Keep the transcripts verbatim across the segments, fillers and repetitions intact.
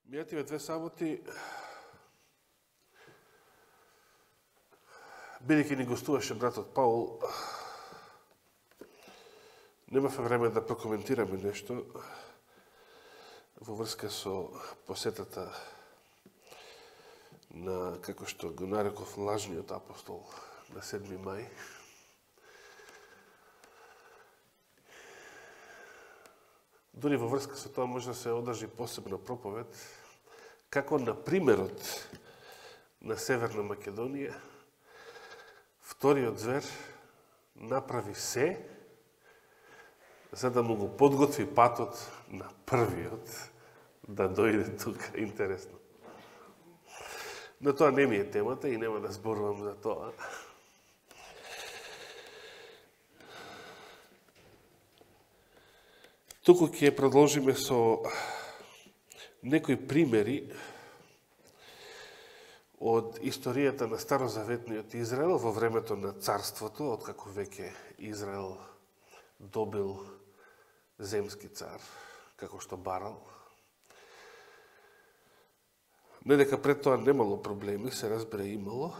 Мијативе две саботи, бидејќи ни гостуваше братот Паул, немавме време да прокоментираме нешто во врска со посетата на, како што го нареков, лажниот апостол на седми мај. Дори во врска со тоа може да се одржи посебна проповед, како на примерот на Северна Македонија, вториот звер направи се за да му го подготви патот на првиот да дојде тука. Интересно. Но тоа не ми е темата и нема да зборувам за тоа. Туку ќе продолжиме со некои примери од историјата на старозаветниот Израел во времето на царството, откако веќе Израел добил земски цар, како што барал. Не дека пред тоа немало проблеми, се разбере имало,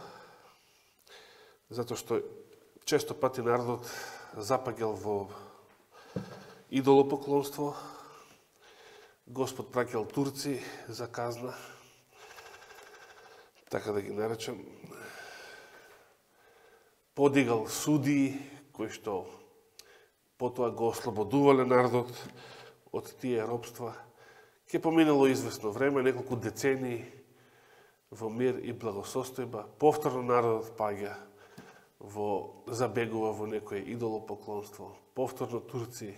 затоа што често пати народот запаѓал во идолопоклонство, Господ праќал турци за казна, така да ги наречам, подигал судии, кои што потоа го ослободувале народот од тие робства. Ке поминало известно време, неколку децении во мир и благосостојба, повторно народот паѓа во забегува во некое идолопоклонство, повторно турци,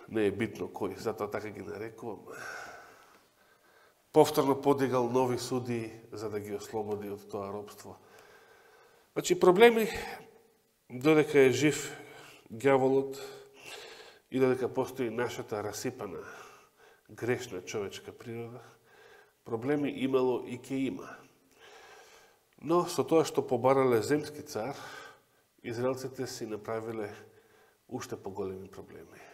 не е битно кој, затоа така ги нарекувам, повторно подигал нови судии за да ги ослободи од тоа робство. Значи, проблеми, додека е жив ѓаволот и додека постои нашата расипана, грешна човечка природа, проблеми имало и ке има. Но со тоа што побарале земски цар, израелците си направиле уште поголеми проблеми.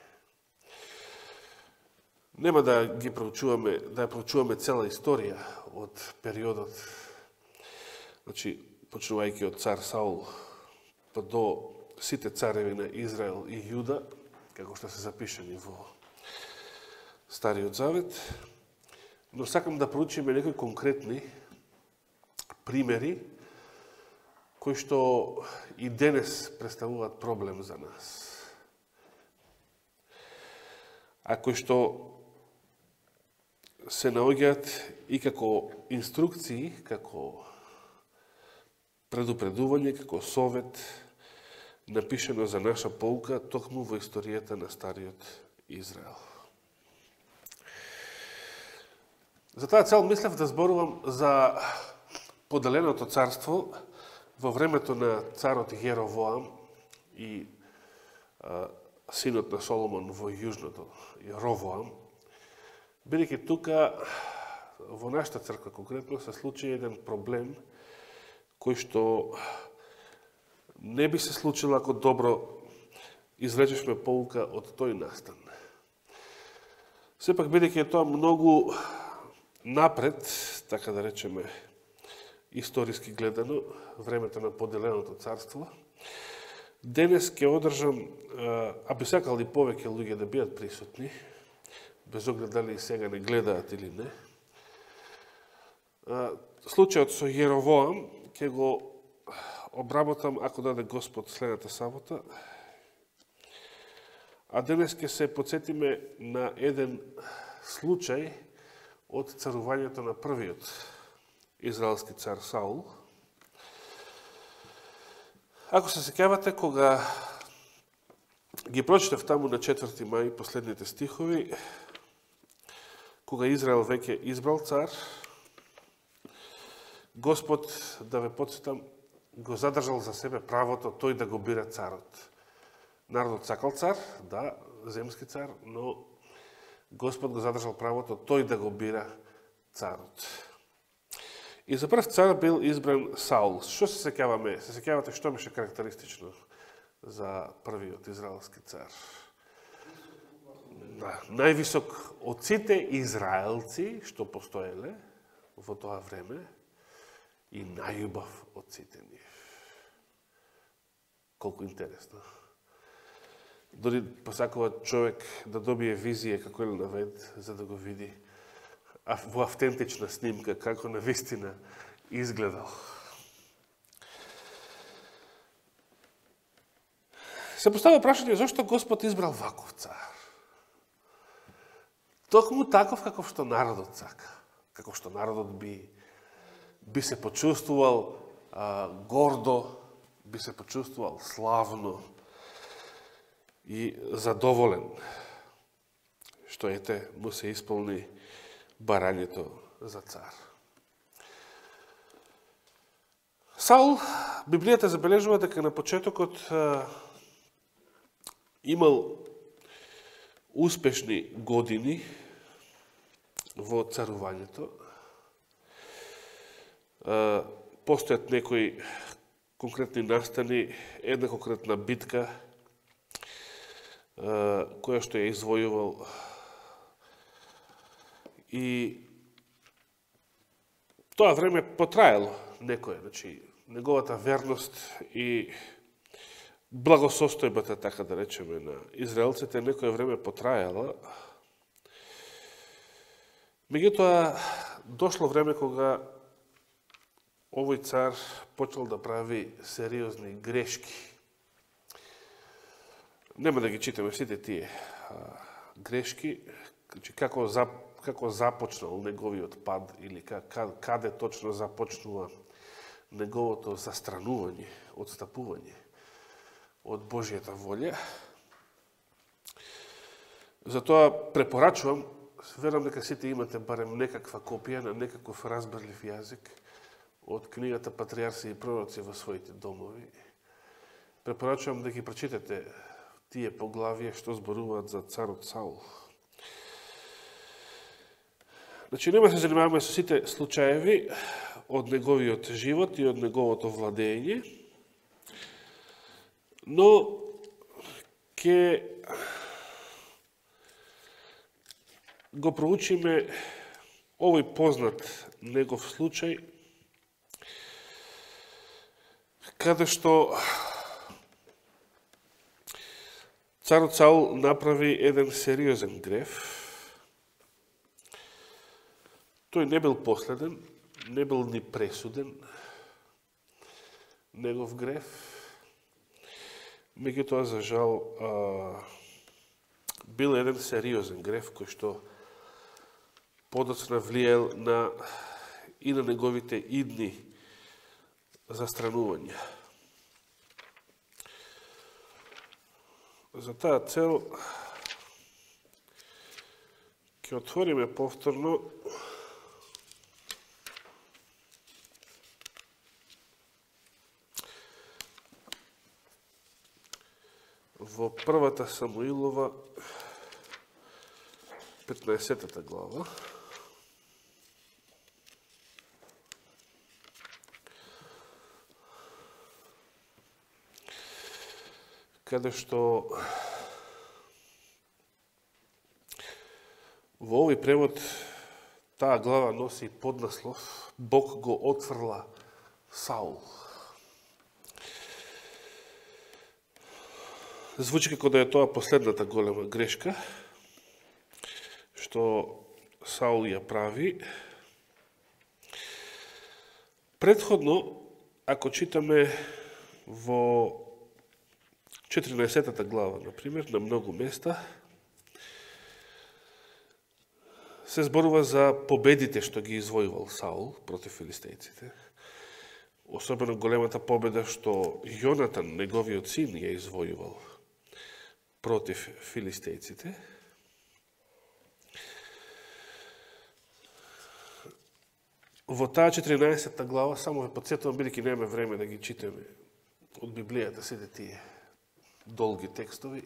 Нема да ги проучуваме, да ја проучуваме цела историја од периодот, значи, почнувајќи од цар Саул, па до сите цареви на Израел и Јуда, како што се запишани во Стариот Завет, но сакам да проучиме некои конкретни примери, кои што и денес представуваат проблем за нас. А кои што се наоѓаат и како инструкции, како предупредување, како совет, напишено за наша поука, токму во историјата на Стариот Израел. За таа цел мислев да зборувам за поделеното царство во времето на царот Јеровоам и а, синот на Соломон во јужното, Ровоам, бидејќи тука во нашата црква конкретно се случи еден проблем кој што не би се случило ако добро извлечешме поука од тој настан. Сепак, бидејќи е тоа многу напред, така да речеме, историски гледано, времето на поделеното царство, денес ќе одржам, а би сакал и повеќе луѓе да бидат присутни, без оглед дали сега не гледаат или не. Случајот со Јеровоам ќе го обработам, ако даде Господ, следната сабота. А денес ќе се подсетиме на еден случај од царувањето на првиот израелски цар Саул. Ако се сеќавате, кога ги прочитав таму на четврти мај последните стихови, кога Израел веќе избрал цар, Господ, да ве подсетам, го задржал за себе правото тој да го бира царот. Народот сакал цар, да, земски цар, но Господ го задржал правото тој да го бира царот. И за прв цар бил избран Саул. Што се сеќаваме? Се сеќавате што беше карактеристично за првиот израелски цар? највисок од сите израелци што постоеле во тоа време и најубав од сите нив. Колку интересно. Дори посакува човек да добие визија како Елена Вајд, за да го види во автентична снимка како на вистина изгледал. Се поставя прашање зашто Господ избрал ваков цар. Токму таков каков што народот сака, каков што народот би би се почувствувал а, гордо, би се почувствувал славно и задоволен, што ете му се исполни барањето за цар. Саул, Библијата забележува дека на почетокот а, имал успешни години во царувањето. А, постојат некои конкретни настани, една конкретна битка а, која што ја извојувал и тоа време потраело некој, значи неговата верност и благосостојбата, така да речеме, на израелците некој време потраела. Меѓутоа, дошло време кога овој цар почел да прави сериозни грешки. Нема да ги читаме сите тие а, грешки, како, за, како започнал неговиот пад или каде точно започнува неговото застранување, одстапување од Божјата волја. Затоа препорачувам, верам дека сите имате барем некаква копија на некаков разбрлив јазик од книгата Патријарси и пророци во своите домови. Препорачувам да ги прочитате тие поглавија што зборуваат за царот Саул. Значи, нема се занимаваме со сите случаеви од неговиот живот и од неговото владење, но ќе го проучиме овој познат негов случај, каде што царот Саул направи еден сериозен греф. Тој не бил последен, не бил ни пресуден негов греф. Меѓутоа, за жал, а, бил еден сериозен греф кој што подоцна влијал на и на неговите идни застранувања. За таа цел ќе отвориме повторно во првата Самуилова петнаесеттата глава. Каде што во овој превод таа глава носи поднаслов Бог го отфрла Саул. Звучи како да е тоа последната голема грешка што Саул ја прави. Предходно, ако читаме во четиринаесеттата глава, например, на многу места, се зборува за победите што ги извојувал Саул против филистејците. Особено големата победа што Јонатан, неговиот син, ја извојувал против филистејците. Во таа четиринаесетта глава, само ве подсетувам, бидејќи немаме време да ги читаме од Библијата сите тие долги текстови.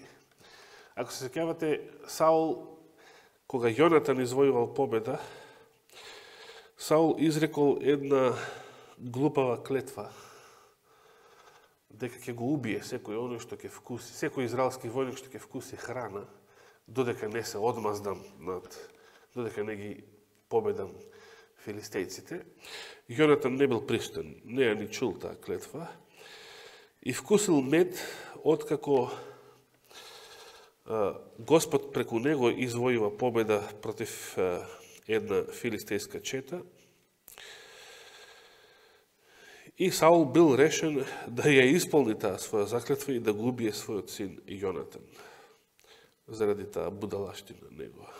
Ако се сеќавате, Саул, кога Јонатан извојувал победа, Саул изрекол една глупава клетва, дека ќе го убие секој оној што ќе вкуси, секој израелски војник што ќе вкуси храна додека не се одмаздам над, додека не ги победам филистејците. Јонатан не бил пристан, не ја ни чул таа клетва и вкусил мед откако Господ преку него извојува победа против една филистејска чета. И Саул бил решен да ја исполни таа своја заклетва и да го убие својот син Јонатан заради таа будалаштина негова.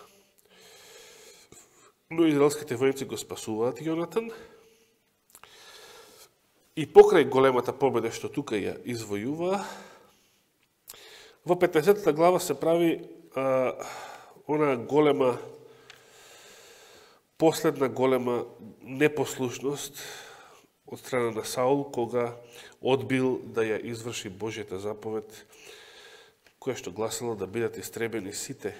Но израелските војници го спасуваат Јонатан и покрај големата победа што тука ја извојува, во петнаесеттата глава се прави а, она голема, последна голема непослушност од страна на Саул, кога одбил да ја изврши Божјата заповед, која што гласила да бидат истребени сите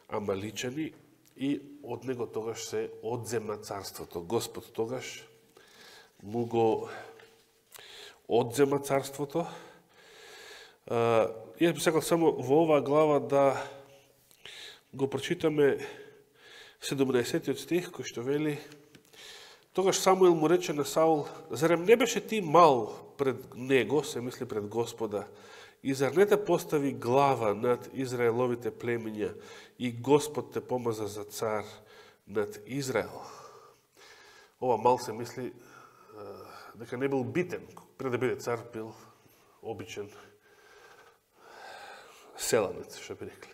амаличани и од него тогаш се одзема царството. Господ тогаш му го одзема царството. Јас би сакал само во оваа глава да го прочитаме седумнаесеттиот стих, кој што вели: тогаш Самуил му рече на Саул: зарем не беше ти мал пред него, се мисли пред Господа, и зар не те постави глава над Израеловите племиња и Господ те помаза за цар над Израел? Ова мал се мисли дека не бил битен, пред да биде цар бил обичен селанец, што би рекле.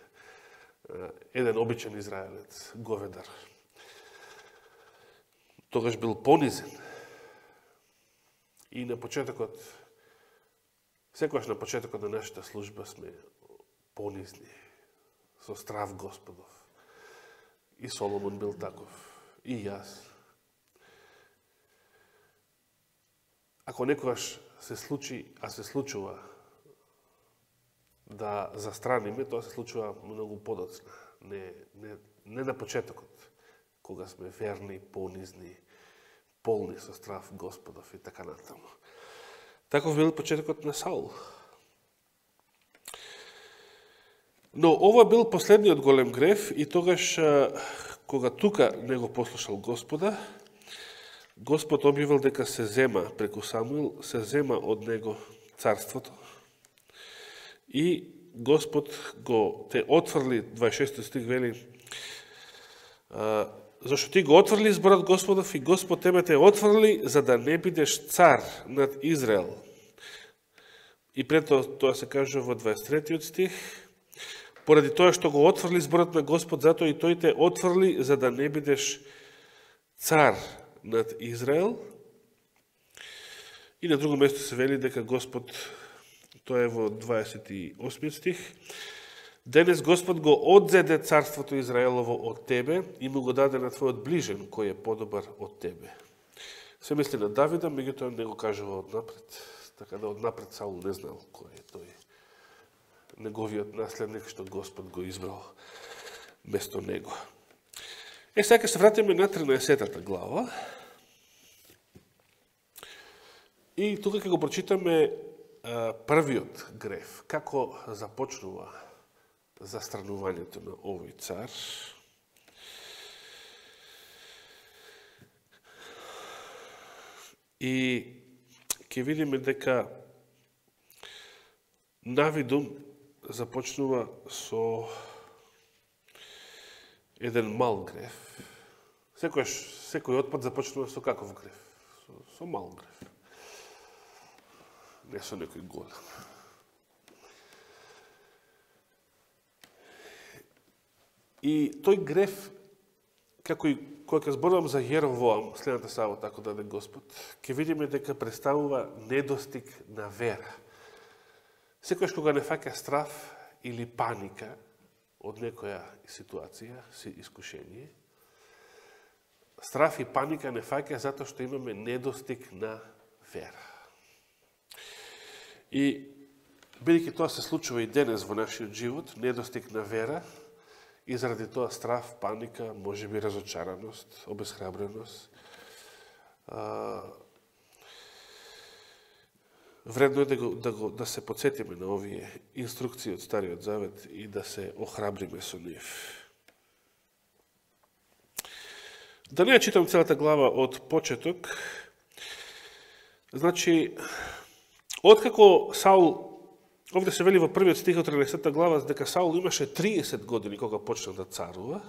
Еден обичен израелец, говедар. Тогаш бил понизен. И на почетокот, секогаш на почетокот на нашата служба сме понизни, со страв Господов. И Соломон бил таков, и јас. Ако некогаш се случи, а се случува, да застраниме, тоа се случува многу подоцна. Не, не, не на почетокот, кога сме верни, понизни, полни со страв Господов и така натаму. Таков бил почетокот на Саул. Но ова бил последниот голем грев и тогаш, кога тука не го послушал Господа, Господ објавил дека се зема преку Самуил, се зема од него царството. И Господ го те отврли, дваесет и шести стих вели, зашто ти го отврли зборот Господов и Господ тебе те отврли за да не бидеш цар над Израел. И пред тоа се кажува во дваесет и третиот стих, поради тоа што го отврли зборот на Господ, затоа и тој те отврли за да не бидеш цар над Израел. И на друго место се вели дека Господ, тоа е во дваесет и осми стих, денес Господ го одзеде царството Израелово од тебе и му го даде на твојот ближен, кој е подобар од тебе. Се мисли на Давида, меѓутоа не го кажува однапред, така да однапред Саул не знал кој е тој неговиот наследник што Господ го избрал место него. Е, сега се вратиме на тринаесеттата глава и тука ќе го прочитаме првиот грев, како започнува застранувањето на овој цар. И ќе видиме дека навидум започнува со еден мал грев. Секојаш, секој отпад започнува со каков грев? Со, со мал грев. Не со некој голем. И тој грев, како и кога ќе зборувам за Јеровоам, следната сабота, ако даде Господ, ќе видиме дека представува недостиг на вера. Секојаш кога не фаќа страв или паника од некоја ситуација, искушение, страв и паника не фаќа затоа што имаме недостиг на вера. И бидејќи тоа се случува и денес во нашиот живот, недостиг на вера, и заради тоа страв, паника, можеби разочараност, обесхрабреност, вредно е да, го, да, го, да се подсетиме на овие инструкции од Стариот Завет и да се охрабриме со нив. Да не ја читам целата глава од почеток. Значи, откако Саул, овде се вели во првиот стих од тринаесетта глава, дека Саул имаше триесет години кога почна да царува,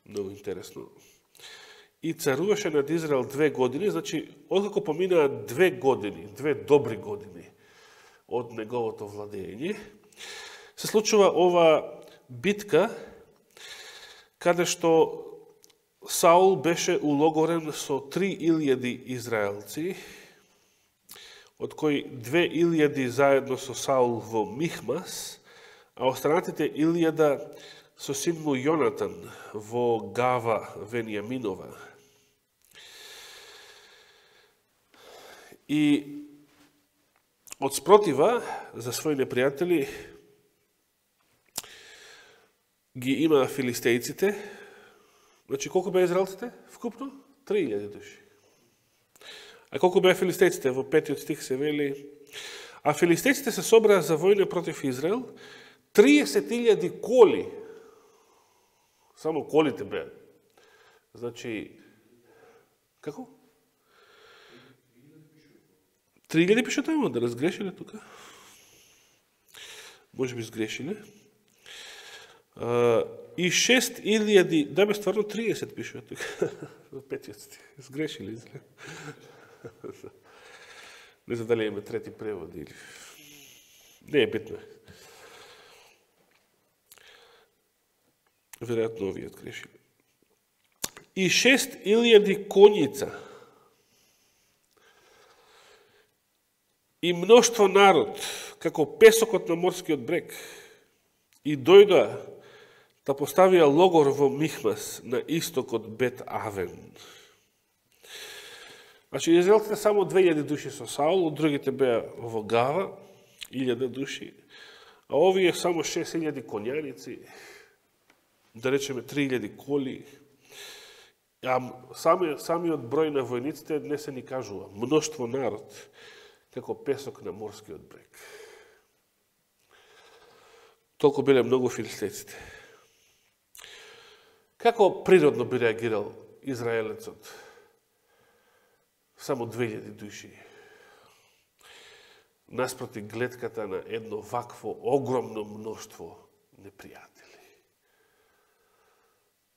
многу интересно, и царуваше над Израел две години, значи, откако поминаа две години, две добри години од неговото владење, се случува ова битка, каде што Саул беше улогорен со три илјади израелци, од кои две илјади заедно со Саул во Михмас, а останатите илјада со син му Јонатан во Гава Венијаминова. И од спротива за своји непријатели ги има филистејците. Значи, колку беа израелците вкупно? три илјади души. А колку беа филистејците? Во петиот стих се вели: а филистејците се собраа за војна против Израел, триесет илјади коли. Само колите беа. Значи, како? три илјади пише тамо, да разгрешиле тука. Може би сгрешиле. Uh, и шест илјади, да бе стварно триесет пише тука, во петиот стих. Сгрешиле, изгледа. Не знам дали има трети превод или... Не е битно. Веројатно овие грешиле. И шест илјади коњица. И мноштво народ, како песокот на морскиот брег. И дојдоа да поставија логор во Михмас на исток од Бет Авен. Значи, израелците само две илјади души со Саул, другите беа во Гава, илјада души, а овие само шест илјади конјаници, да речеме три илјади коли, а сами, самиот број на војниците не се ни кажува. Мноштво народ, како песок на морскиот брег. Толку биле многу филистејците. Како природно би реагирал израелецот? Само две илјади души. Наспроти гледката на едно вакво огромно мноштво непријатели.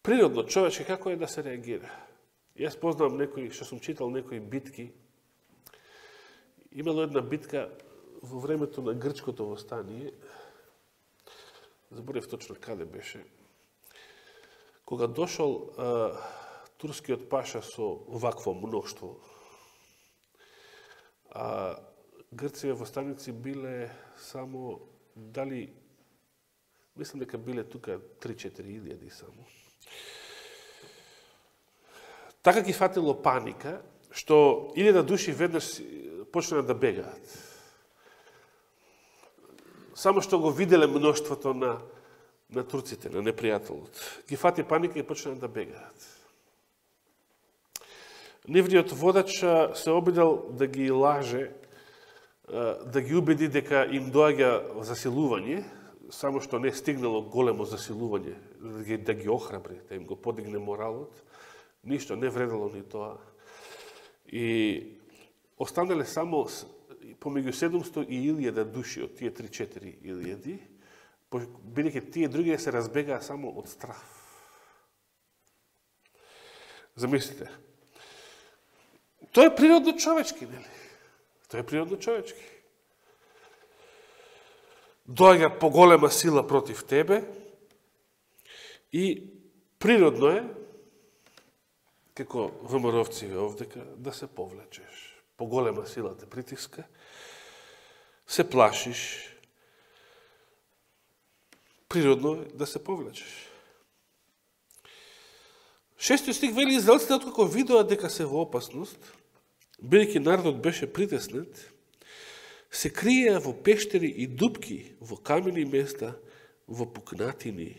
Природно, човече, како е да се реагира? Јас познавам некои, што сум читал некои битки. Имало една битка во времето на грчкото востание, заборев точно каде беше, кога дошол а, турскиот паша со вакво мноштво, а грците востаници биле само, дали, мислам дека биле тука три-четири илјади само. Така ги фатило паника, што илјада души веднаш почнаа да бегаат. Само што го виделе мноштвото на, на турците, на непријателот. Ги фати паника и почнаа да бегаат. Нивниот водач се обидел да ги лаже, да ги убеди дека им доаѓа засилување, само што не стигнало големо засилување, да ги, да ги охрабри, да им го подигне моралот. Ништо, не вредало ни тоа. И останале само помеѓу седумсто и илјада души од тие три-четири илјади, бидејќи тие други се разбегаа само од страх. Замислите. Тоа е природно човечки, нели? Тоа е природно човечки. Доаѓа поголема сила против тебе и природно е, како ВМРО-вци овдека, да се повлечеш. Поголема сила те притиска, се плашиш, природно е да се повлечеш. Шестиот стих вели: израелците откако видоа дека се во опасност, бидејќи народот беше притеснет, се криеа во пештери и дупки, во камени места, во пукнатини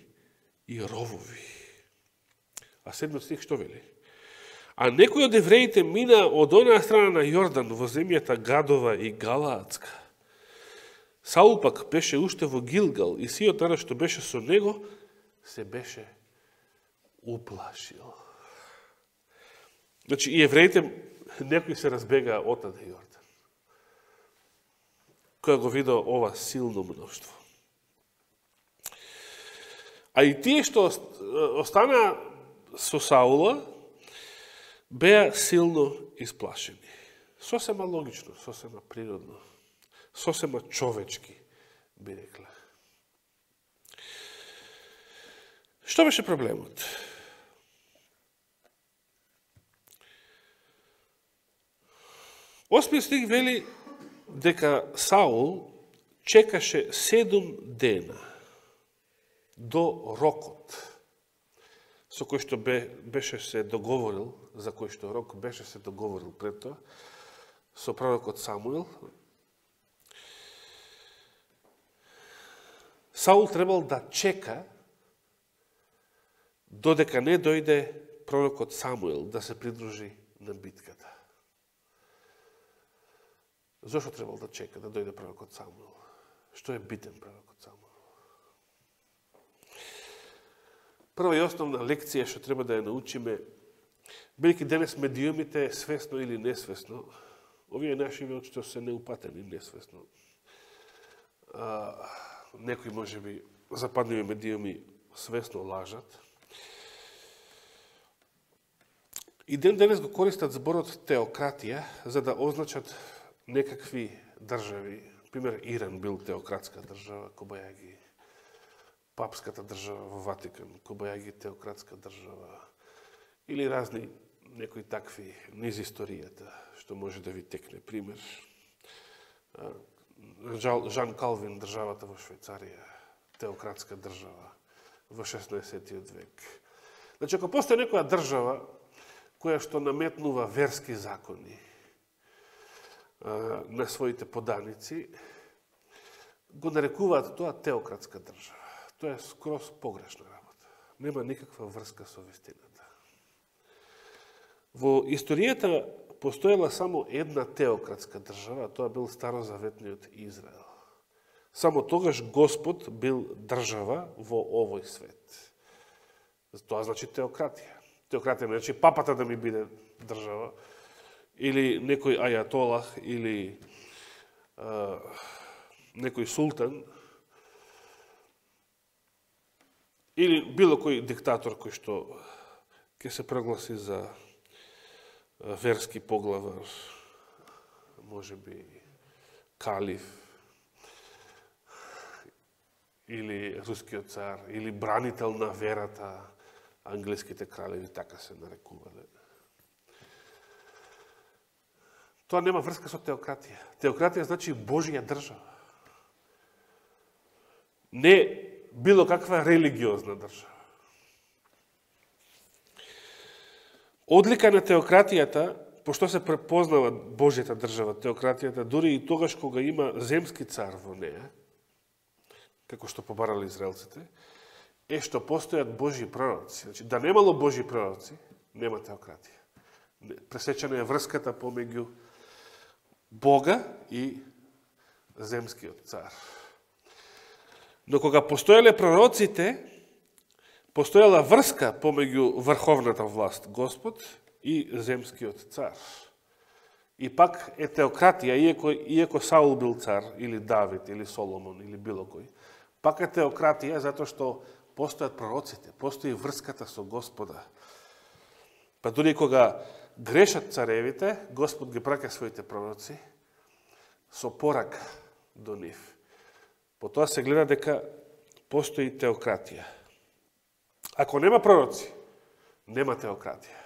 и ровови. А седмиот стих што вели? А некој од евреите мина од онаа страна на Јордан во земјата Гадова и Галаатска. Саул пак беше уште во Гилгал и сиот народ што беше со него се беше уплашил. Значи и евреите некои се разбегаа од на Јордан, која го видел ова силно мноштво. А и тие што остана со Саула беа силно исплашени. Сосема логично, сосема природно, сосема човечки, би рекле. Што беше проблемот? Осми стих вели дека Саул чекаше седум дена до рокот со кој што беше се договорил, за кој што рок беше се договорил пред тоа, со пророкот Самуил. Саул требал да чека додека не дојде пророкот Самуил да се придружи на битката. Зошто требал да чека да дојде пророкот Самуил? Што е битен пророкот Самуил? Прва и основна лекција што треба да ја научиме, бидејќи денес медиумите свесно или несвесно, овие наши што се неупатени несвесно, а, некои можеби западливи медиуми свесно лажат. И ден денес го користат зборот теократија за да означат некакви држави. Пример, Иран бил теократска држава, Кобајаги папската држава во Ватикан, Кобајаги теократска држава, или разни некои такви низ историјата, што може да ви текне пример. Жан Калвин, државата во Швајцарија, теократска држава во шеснаесеттиот век. Значи, ако постои некоја држава која што наметнува верски закони на своите поданици, го нарекуваат тоа теократска држава. Тоа е скроз погрешна работа. Нема никаква врска со вистината. Во историјата постоела само една теократска држава, тоа бил старозаветниот Израел. Само тогаш Господ бил држава во овој свет. Тоа значи теократија. Теократија не значи папата да ми биде држава, или некој ајатолах, или а, некој султан, или било кој диктатор кој што ќе се прогласи за верски поглавар, може би калиф, или рускиот цар, или бранител на верата, англиските кралеви така се нарекувале. Тоа нема врска со теократија. Теократија значи Божја држава. Не било каква религиозна држава. Одлика на теократијата, пошто се препознава Божјата држава, теократијата, дури и тогаш кога има земски цар во неја, како што побарали израелците, е што постојат Божји пророци. Значи, да немало Божји пророци, нема теократија. Пресечена е врската помеѓу Бога и земскиот цар. Но кога постоеле пророците, постоела врска помеѓу врховната власт, Господ, и земскиот цар. И пак е теократија, иако, иако Саул бил цар, или Давид, или Соломон, или било кој, пак е теократија затоа што постојат пророците, постои врската со Господа. Па дури кога грешат царевите, Господ ги праќа своите пророци со порака до нив. По тоа се гледа дека постои теократија. Ако нема пророци, нема теократија.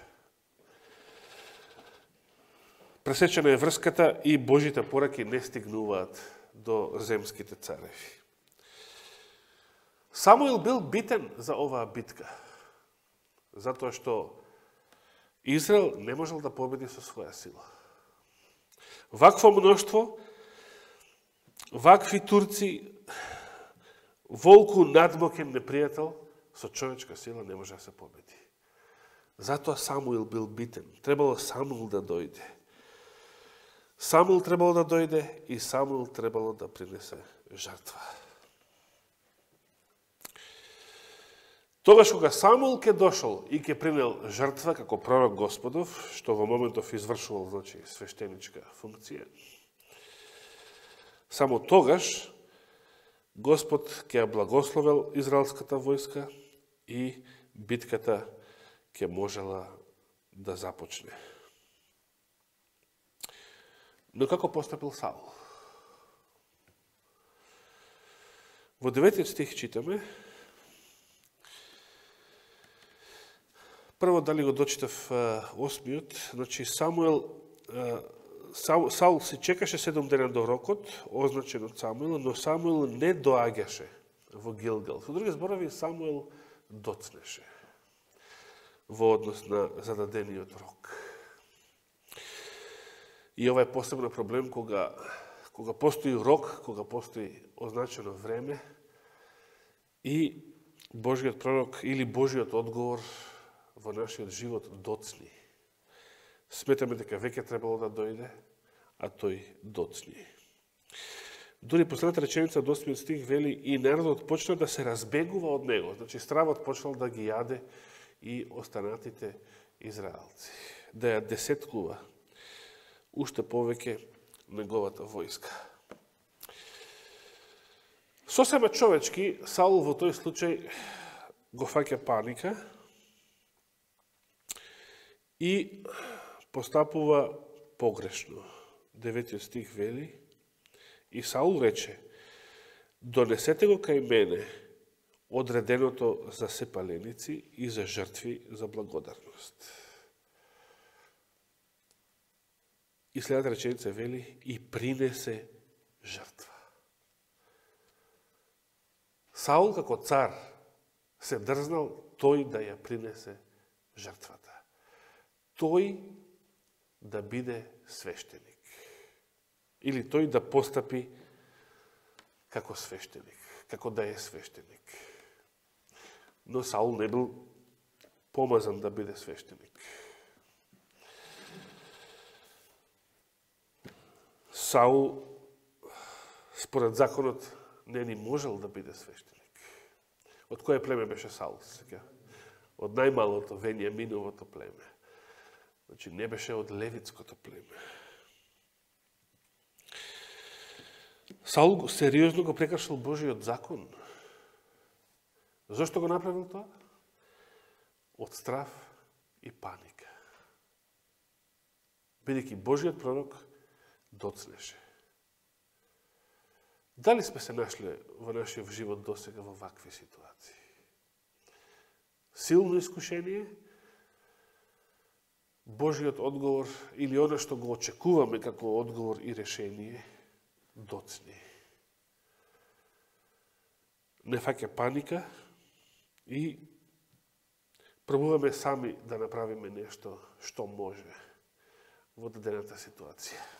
Пресечена е врската и Божите пораки не стигнуваат до земските цареви. Самуил бил битен за оваа битка, затоа што Израел не можел да победи со своја сила. Вакво мноштво, вакви турци, волку надмокен непријател, со човечка сила не може да се победи. Затоа Самуил бил битен. Требало Самуил да дојде. Самуил требало да дојде и Самуил требало да принесе жртва. Тогаш кога Самуил ке дошол и ке принел жртва како пророк Господов, што во моментов извршувал, значи, свештеничка функција, само тогаш Господ ќе благословел израелската војска и битката ќе можела да започне. Но како постапил Саул? Во деветиот стих читаме, прво дали го дочитав осмиот, значи Самуил, Саул си чекаше седум дена до рокот, означен од Самуил, но Самуил не доаѓаше во Гилгал. Со други зборови, Самуил доцнеше во однос на зададениот рок. И ова е посебно проблем кога, кога постои рок, кога постои означено време и Божиот пророк или Божиот одговор во нашиот живот доцни. Сметаме дека веќе требало да дојде, а тој доцни. Дури последната реченица од осмиот стих вели и народот почна да се разбегува од него. Значи стравот почнал да ги јаде и останатите израелци. Да ја десеткува уште повеќе неговата војска. Сосема човечки, Саул во тој случај го фаќа паника и постапува погрешно. Деветиот стих вели, и Саул рече, донесете го кај мене одреденото за сепаленици и за жртви за благодарност. И следната реченица вели, и принесе жртва. Саул како цар се дрзнал тој да ја принесе жртвата. Тој да биде свештеник. Или тој да постапи како свештеник, како да е свештеник. Но Саул не бил помазан да биде свештеник. Саул, според законот, не ни можел да биде свештеник. Од кое племе беше Саул? Од најмалото, Венијаминовото племе. Значи, не беше од левитското племе. Саул сериозно го прекршил Божиот закон. Зошто го направил тоа? Од страв и паника. Бидејќи Божиот пророк доцнеше. Дали сме се нашли во нашиот живот досега во вакви ситуации? Силно искушение, Божиот одговор или оно што го очекуваме како одговор и решение, доцни. Не фаќа паника и пробуваме сами да направиме нешто што може во дадената ситуација.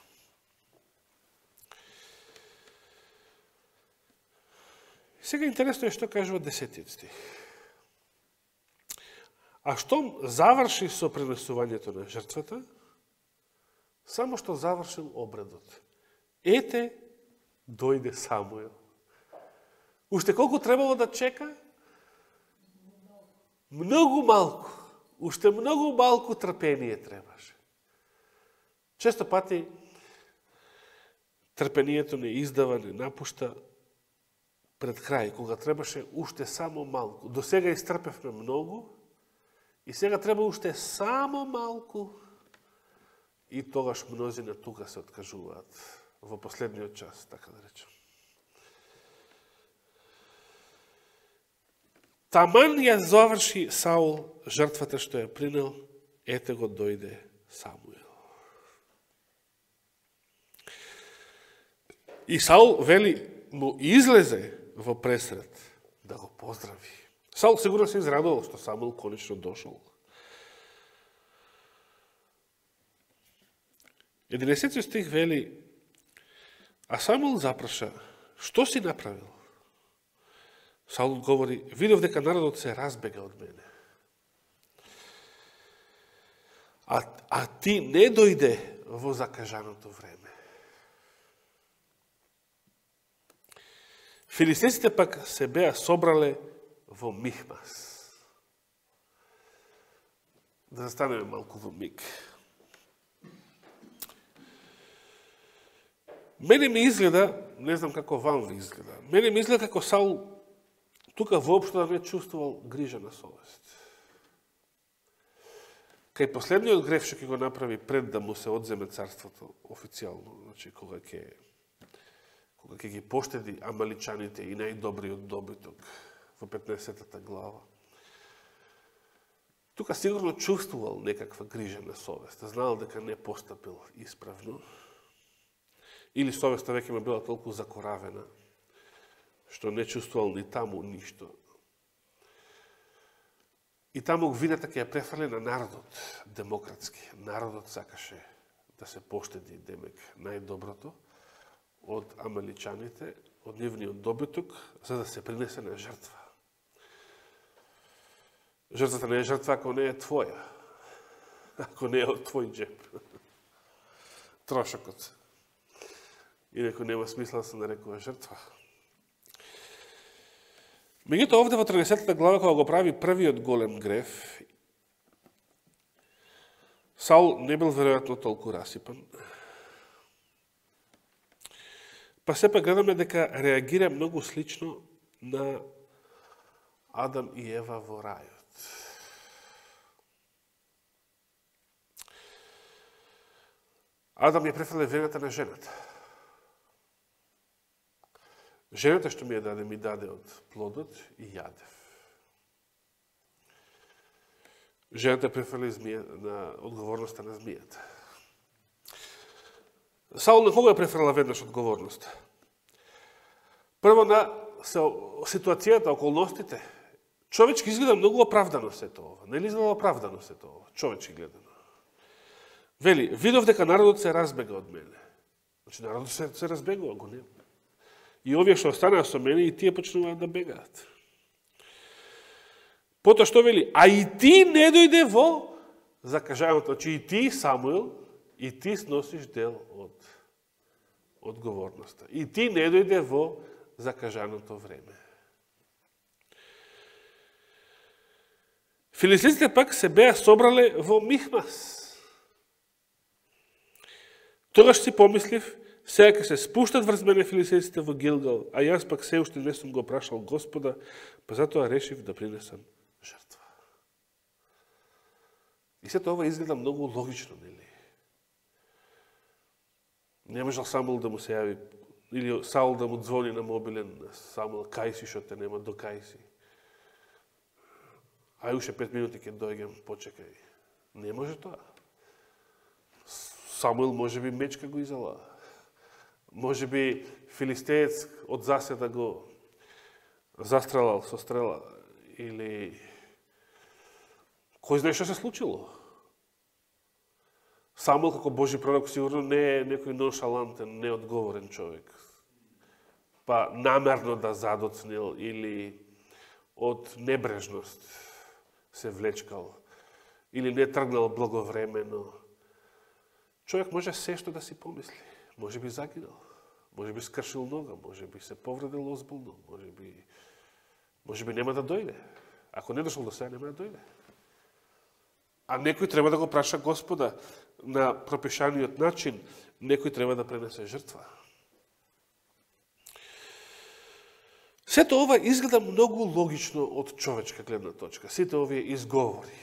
Сега интересно е што кажува десетиот стих. А штом заврши со пренесувањето на жртвата, само што завршил обредот. Ете, дојде Самуил. Уште колку требало да чека? Многу малку. Уште многу малку трпение требаше. Често пати трпението не издава, не напушта пред крај, кога требаше уште само малку. До сега истрпевме многу, и сега треба уште само малку, и тогаш мнозина тука се откажуваат во последниот час, така да речем. Таман ја заврши Саул жртвата што ја принел, ете го дојде Самуил. И Саул, вели, му излезе во пресред да го поздрави. Саул сигурно се израдувал што Самуил конечно дошол. единесетиот стих вели, а Самуил запраша, што си направил? Саул говори, видов дека народот се разбега од мене. а, а ти не дојде во закажаното време. Филистејците пак се беа собрале во Михмас. Да застанеме малку во миг. Мене ми изгледа, не знам како вам ви изгледа, мене ми изгледа како Саул тука воопшто да не чувствувал грижа на совест. Кај последниот греф што ќе го направи пред да му се одземе царството официјално, значи кога ќе кога ќе ги поштеди амаличаните и најдобриот добиток во петнаесеттата глава. Тука сигурно чувствувал некаква грижа на совест, знаел дека не постапил исправно, или совеста веќе му била толку закоравена, што не чувствувал ни таму ништо. И таму вината ќе ја префрли на народот, демократски. Народот сакаше да се поштеди, демек, најдоброто од амаличаните, од нивниот добиток, за да се принесе на жртва. Жртвата не е жртва ако не е твоја, ако не е од твој джеб. Трошокот. Инако нема смисла да се нарекува жртва. Меѓутоа овде во траесеттата глава, кога го прави првиот голем греф, Саул не бил веројатно толку расипан. Па сепак гледаме дека реагира многу слично на Адам и Ева во рајот. Адам ја префрле вената на жената. Жената што ми ја даде, ми даде од плодот и јадев. Жената префрли змија, на одговорноста на змијата. Саул на кого ја префрла веднаш одговорноста? Прво на ситуацијата, околностите. Човечки изгледа многу оправдано сето ова. Не ли изгледа оправдано сето ова? Човечки гледано. Вели, видов дека народот се разбега од мене. Значи, народот се, се разбегува, го нема. И овие што останаа со мене, и тие почнуваат да бегаат. Потоа што вели? А и ти не дојде во закажаното. Значи, и ти, Самуил, и ти сносиш дел од одговорноста. И ти не дојде во закажаното време. Филистејците пак се беа собрале во Михмас. Тогаш си помислив, сега ќе се спуштат врз мене филистејците во Гилгал, а јас пак се уште не сум го прашал Господа, па затоа решив да принесам жртва. И сето ова изгледа многу логично, нели? Не можел Самуил да му се јави, или Саул да му звони на мобилен, Самуил, кај си, шо те нема, до кај си. Ај уште пет минути ќе дојгем, почекај. Не може тоа. Самуил може би мечка го изала. Може би филистеец од заседа го застрелал со стрела. Или кој знае што се случило. Самуил како Божи пророк сигурно не е некој ноншалантен, неодговорен човек. Па намерно да задоцнил или од небрежност се влечкал. Или не тргнал благовремено. Човек може се што да си помисли. Може би загинал, може би скршил нога, може би се повредил озбилно, може би, може би нема да дојде. Ако не дошол до сега, нема да дојде. А некој треба да го праша Господа на пропишаниот начин, некој треба да пренесе жртва. Сето ова изгледа многу логично од човечка гледна точка. Сите овие изговори.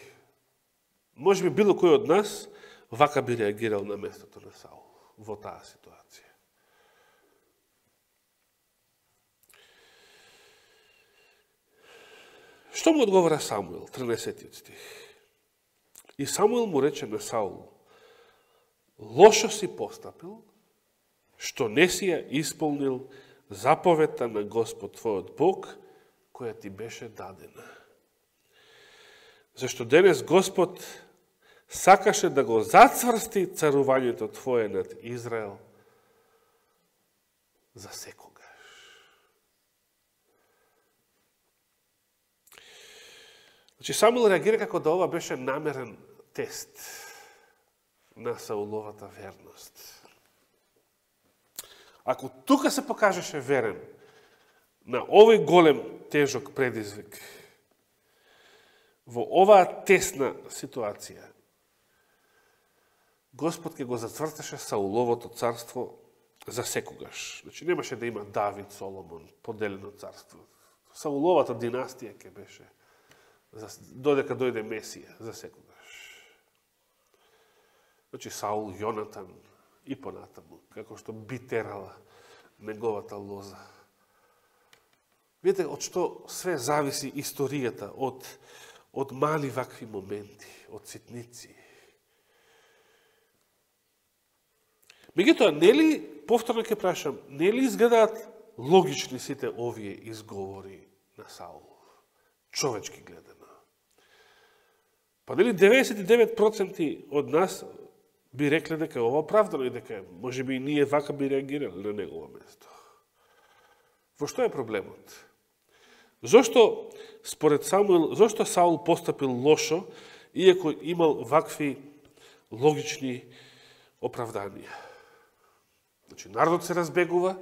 Може би било кој од нас вака би реагирал на местото на Саул во таа ситуација. Што му одговора Самуил, траесеттиот стих? И Самуил му рече на Саул: лошо си постапил, што не си ја исполнил заповедта на Господ твојот Бог, која ти беше дадена. Зашто денес Господ сакаше да го зацврсти царувањето твое над Израел за секогаш. Значи, Самуил реагира како да ова беше намерен тест. на Сауловата верност. Ако тука се покажеше верен на овој голем, тежок предизвик, во оваа тесна ситуација, Господ ќе го зацвртеше Сауловото царство за секогаш. Значи, немаше да има Давид, Соломон, поделено царство. Сауловата династија ќе беше, додека дојде Месија, за секогаш. Значи, Саул, Јонатан и понатаму, како што би терала неговата лоза. Видите, од што све зависи историјата, од, од мали вакви моменти, од ситници. Меѓутоа, нели, повторно ќе прашам, нели изгледаат логични сите овие изговори на Саул, човечки гледано? Па нели деветдесет и девет проценти од нас би рекле дека ова оправдано и дека можеби и ние вака би реагирали на негово место. Во што е проблемот? Зошто според Самуил, зошто Саул постапил лошо, иако имал вакви логични оправданија? Значи, народот се разбегува,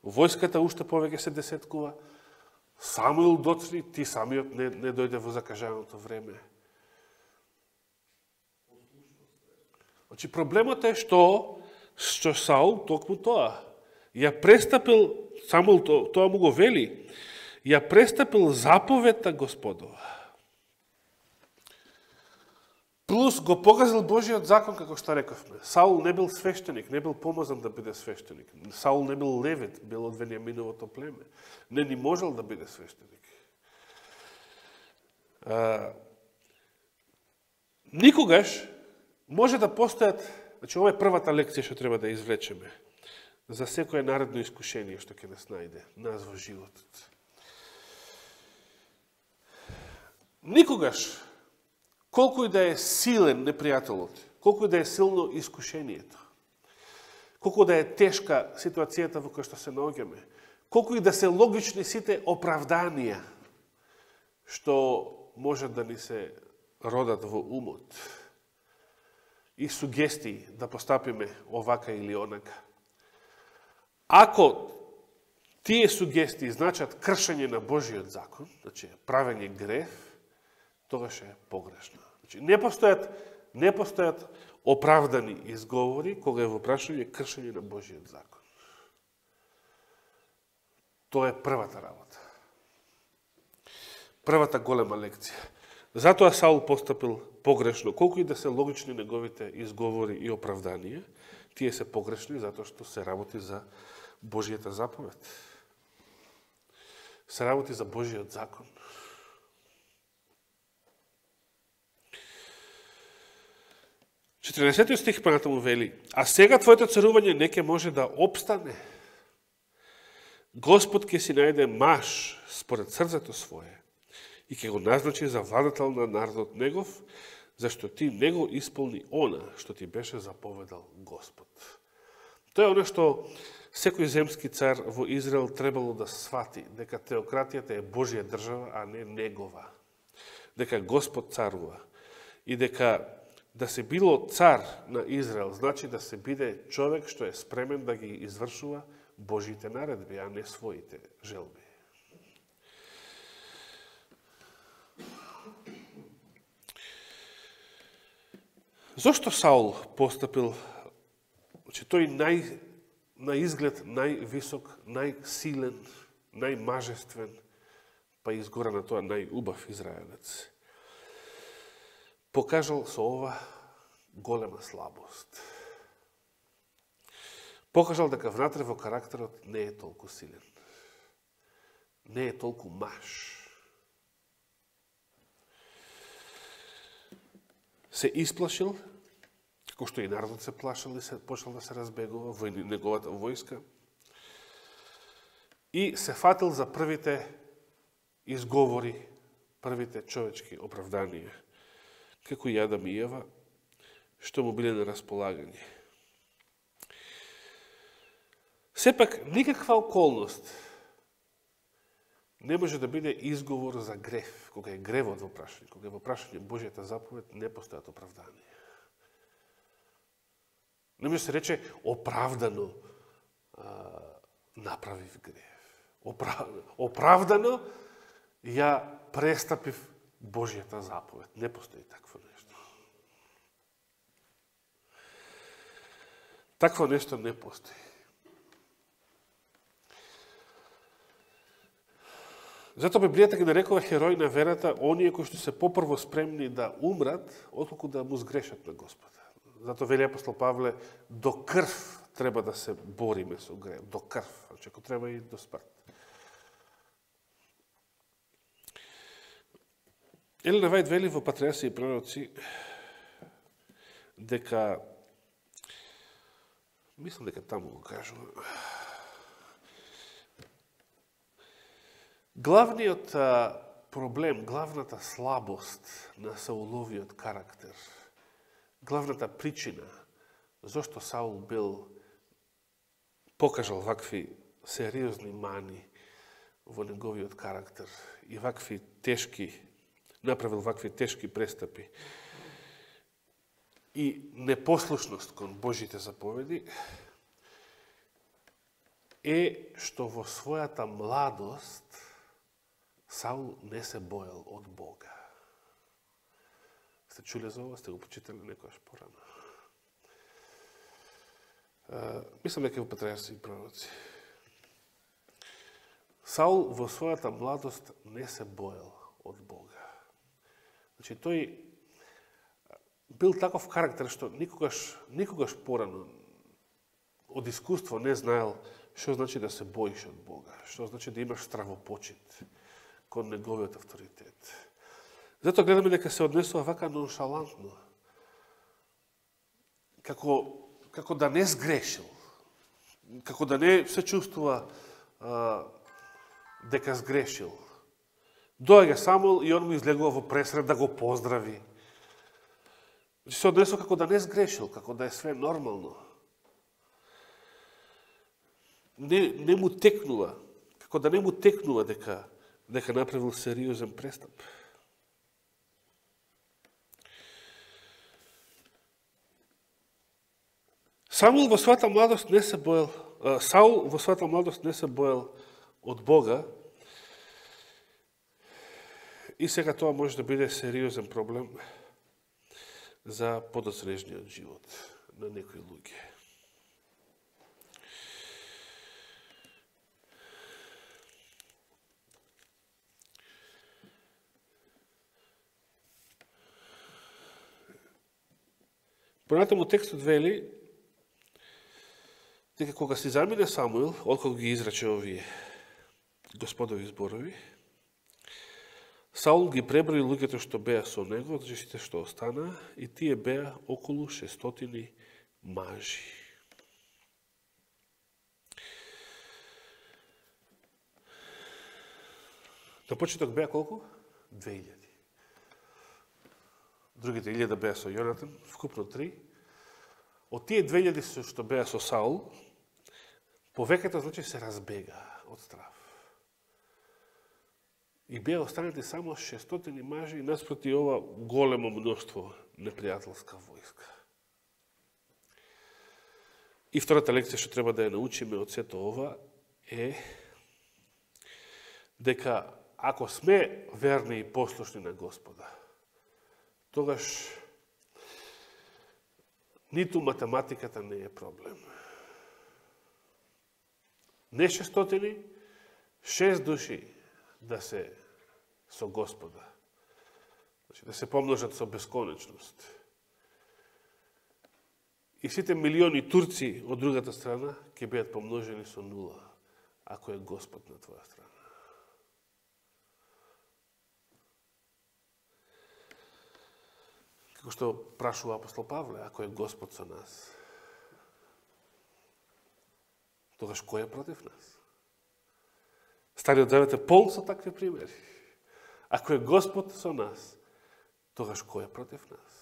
војската уште повеќе се десеткува, Самуил доцни, ти самиот не, не дојде во закажаното време. Значи, проблемот е што, што Саул токму тоа. Ја престапил, Самуил тоа, тоа му го вели, ја престапил заповедта Господова. Плюс го погазил Божиот закон, како што рековме. Саул не бил свештеник, не бил помазан да биде свештеник. Саул не бил левит, бил од Венијаминовото племе. Не ни можел да биде свештеник. А, никогаш може да постојат, значи ова е првата лекција што треба да извлечеме за секое наредно искушение што ќе нас најде, нас во животот. Никогаш, колку и да е силен непријателот, колку и да е силно искушението, колку да е тешка ситуацијата во која што се наоѓаме, колку и да се логични сите оправданија што може да ни се родат во умот и сугестии да постапиме овака или онака. Ако тие сугестии значат кршење на Божиот закон, значи правење грев, тогаш е погрешно. Значи, не постојат, не постојат оправдани изговори кога е во прашање кршење на Божиот закон. Тоа е првата работа. Првата голема лекција. Затоа Саул постапил погрешно. Колку и да се логични неговите изговори и оправданија, тие се погрешни затоа што се работи за Божијата заповед. Се работи за Божиот закон. четридесетиот стих понатаму вели: а сега твоето царување не ќе може да обстане. Господ ќе си најде маж според срцето свое и ќе го назначи за владател на народот негов, зашто ти не го исполни она што ти беше заповедал Господ. Тоа е оно што секој земски цар во Израел требало да свати, дека теократијата е Божја држава, а не негова. Дека Господ царува и дека да се било цар на Израел значи да се биде човек што е спремен да ги извршува Божите наредби, а не своите желби. Зошто Саул постапил, че тој нај, на изглед највисок, најсилен, најмажествен, па изгора на тоа најубав израелец, покажал со ова голема слабост. Покажал дека внатре во карактерот не е толку силен. Не е толку маж. Се исплашил, како што и народот се плашал и се почнал да се разбегува во неговата војска, и се фатил за првите изговори, првите човечки оправданија, како и Адам и Ева, што му биле на располагање. Сепак, никаква околност не може да биде изговор за грев, кога е гревот во прашање, кога е во прашање Божјата заповед, не постојат оправданија. Не може да се рече оправдано а, направив грев. Оправ... Оправдано ја престапив Божјата заповед. Не постои такво нешто. Такво нешто не постои. Затоа Библијата ги нарекува херои на верата оние кои што се попрво спремни да умрат, отколку да му сгрешат на Господа. Затоа вели апостол Павле, до крв треба да се бориме со грев. До крв. Значи, ако треба и до смрт. Елена Вајд вели во Патриарси и пророци дека, мислам дека таму го кажува, главниот проблем, главната слабост на Сауловиот карактер, главната причина зошто Саул бил покажал вакви сериозни мани во неговиот карактер и вакви тешки, направил вакви тешки престапи и непослушност кон Божите заповеди, е што во својата младост Саул не се боел од Бога. Сте чуле за ова? Сте го почитали некојаш порано? Мислам дека во Патриарси и пророци. Саул во својата младост не се боел од Бога. Значи, тој бил таков карактер што никогаш, никогаш порано од искуство не знаел што значи да се боиш од Бога, што значи да имаш стравопочит кон неговиот авторитет. Затоа гледаме дека се однесува вака ноншалантно, како, како да не сгрешил, како да не се чувствува а, дека сгрешил. Доаѓа Самуил и он му излегува во пресред да го поздрави. Се однесува како да не сгрешил, како да е све нормално. Не, не му текнува, како да не му текнува дека дека направил сериозен престап. Самуил во својата младост не се боел, Саул во својата младост не се боел од Бога и сега тоа може да биде сериозен проблем за подосрежниот живот на некои луѓе. Понатаму текстот вели дека кога си замине Самуил, откако ги изрече овие господови зборови, Саул ги преброи луѓето што беа со него, значи сите што остана, и тие беа околу шестстотини мажи. На почеток беа колку? две илјади. Другите илјада беа со Јонатан, вкупно три. Од тие две илјади што беа со Саул, повеќето значи се разбега од страв. И беа останати само шестстотини мажи наспроти ова големо мноштво непријателска војска. И втората лекција што треба да ја научиме од сето ова е дека ако сме верни и послушни на Господа, тогаш ниту математиката не е проблем. Не шестстотини, шест души да се со Господа. Значи, да се помножат со бесконечност. И сите милиони турци од другата страна ќе бидат помножени со нула, ако е Господ на твоја страна. Како што прашува апостол Павле, ако е Господ со нас, тогаш кој е против нас? Стариот Завет е полн со такви примери. Ако е Господ со нас, тогаш кој е против нас?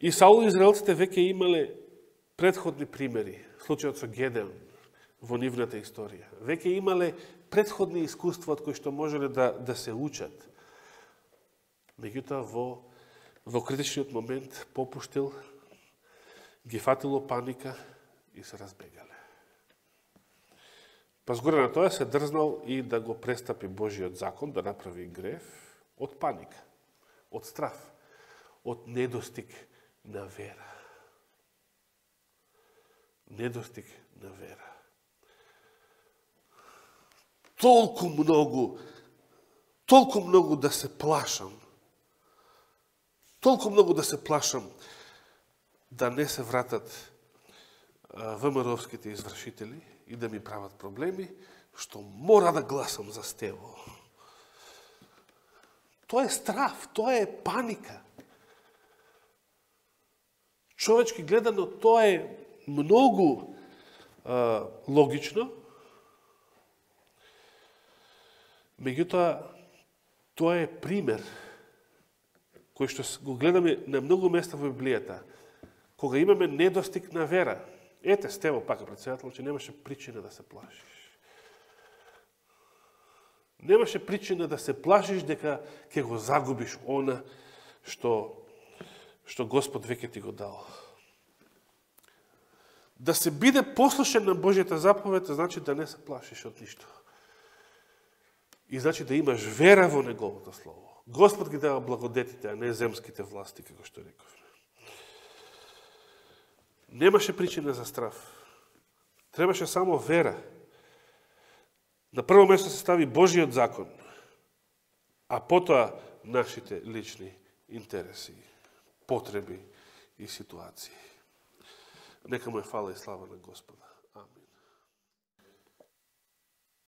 И Саул и израелците веќе имале предходни примери, случајот со Гедеон во нивната историја. Веќе имале предходни искуства од кои што можеле да, да се учат. Меѓутоа, во, во критичниот момент попуштил ги фатило паника и се разбегале. Па згоре на тоа се дрзнал и да го престапи Божиот закон, да направи грев од паника, од страв, од недостиг на вера. Недостиг на вера. Толку многу, толку многу да се плашам, толку многу да се плашам да не се вратат ВМРО-вските извршители и да ми прават проблеми, што мора да гласам за Стево. Тоа е страв, тоа е паника. Човечки гледано, тоа е многу а, логично, меѓутоа, тоа е пример кој што го гледаме на многу места во Библијата, кога имаме недостиг на вера. Ете, Стево, пака председател, че немаше причина да се плашиш. Немаше причина да се плашиш дека ќе го загубиш она што, што Господ веќе ти го дал. Да се биде послушен на Божјата заповед, значи да не се плашиш од ништо. И значи да имаш вера во Неговото Слово. Господ ги дава благодетите, а не земските власти, како што рековме. Немаше причина за страв. Требаше само вера. На прво место се стави Божиот закон, а потоа нашите лични интереси, потреби и ситуации. Нека му е фала и слава на Господа.